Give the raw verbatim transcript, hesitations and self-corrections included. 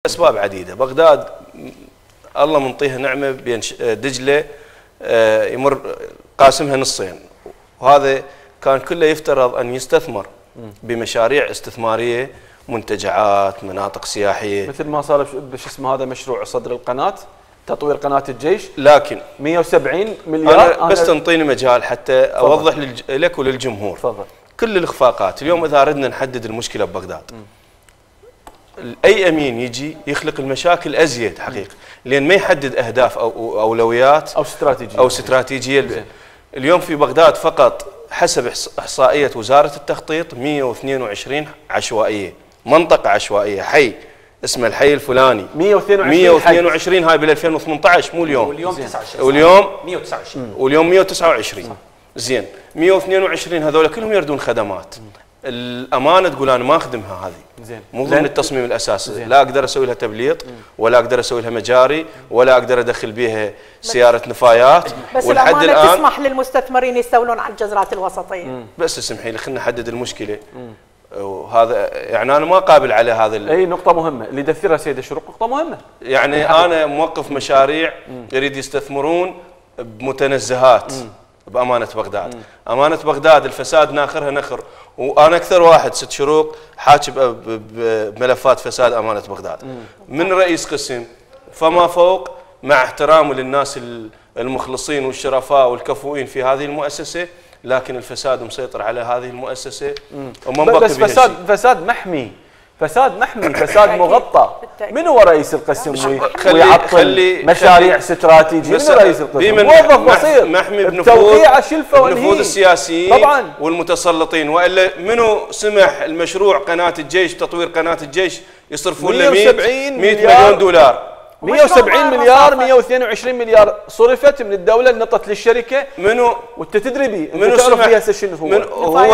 أسباب عديدة. بغداد الله منطيها نعمة بين دجلة يمر قاسمها نصين، وهذا كان كله يفترض أن يستثمر بمشاريع استثمارية، منتجعات، مناطق سياحية، مثل ما صار بش اسمه هذا مشروع صدر القناة، تطوير قناة الجيش. لكن مئة وسبعين مليار. أنا بس تنطيني مجال حتى أوضح لك وللجمهور. تفضل. كل الإخفاقات اليوم إذا أردنا نحدد المشكلة ببغداد، أي أمين يجي يخلق المشاكل أزيد حقيقة، لأن ما يحدد أهداف أو أولويات أو استراتيجية أو استراتيجية. اليوم في بغداد فقط حسب إحصائية وزارة التخطيط مئة واثنين وعشرين عشوائية، منطقة عشوائية، حي اسمه الحي الفلاني مئة واثنين وعشرين مئة واثنين وعشرين هاي بال ألفين وثمانية عشر مو اليوم، واليوم تسعة وعشرين واليوم مئة وتسعة وعشرين واليوم مئة وتسعة وعشرين. زين مئة واثنين وعشرين هذول كلهم يردون خدمات. الامانه تقول انا ما اخدمها هذه، زين مو ضمن التصميم الاساسي، لا اقدر اسوي لها تبليط ولا اقدر اسوي لها مجاري ولا اقدر ادخل بها سياره نفايات. بس ولحد الامانه الان تسمح للمستثمرين يستولون على الجزرات الوسطيه. بس اسمحي لي خلينا نحدد المشكله. وهذا يعني انا ما قابل على هذا اي نقطه مهمه اللي يدثرها سيد الشروق، نقطه مهمه. يعني انا موقف مشاريع يريد يستثمرون بمتنزهات بأمانة بغداد. مم. أمانة بغداد الفساد ناخرها نخر، وأنا أكثر واحد ست شروق حاكي بملفات فساد أمانة بغداد. مم. من رئيس قسم فما فوق، مع احترامه للناس المخلصين والشرفاء والكفؤين في هذه المؤسسة، لكن الفساد مسيطر على هذه المؤسسة وما بقي بس فساد شيء. فساد محمي، فساد محمي، فساد مغطى. من هو رئيس القسم ويعطل مشاريع استراتيجيه؟ من رئيس القسم؟ موظف بسيط محمي بنفوذ السياسيين طبعا والمتسلطين، والا منو سمح المشروع قناه الجيش تطوير قناه الجيش يصرفون له مئة مليون دولار؟ مئة وسبعين مليار مئة واثنين وعشرين مليار صرفت من الدوله نطت للشركه. منو وانت تدري بي منو تعرف فيها شنو هو؟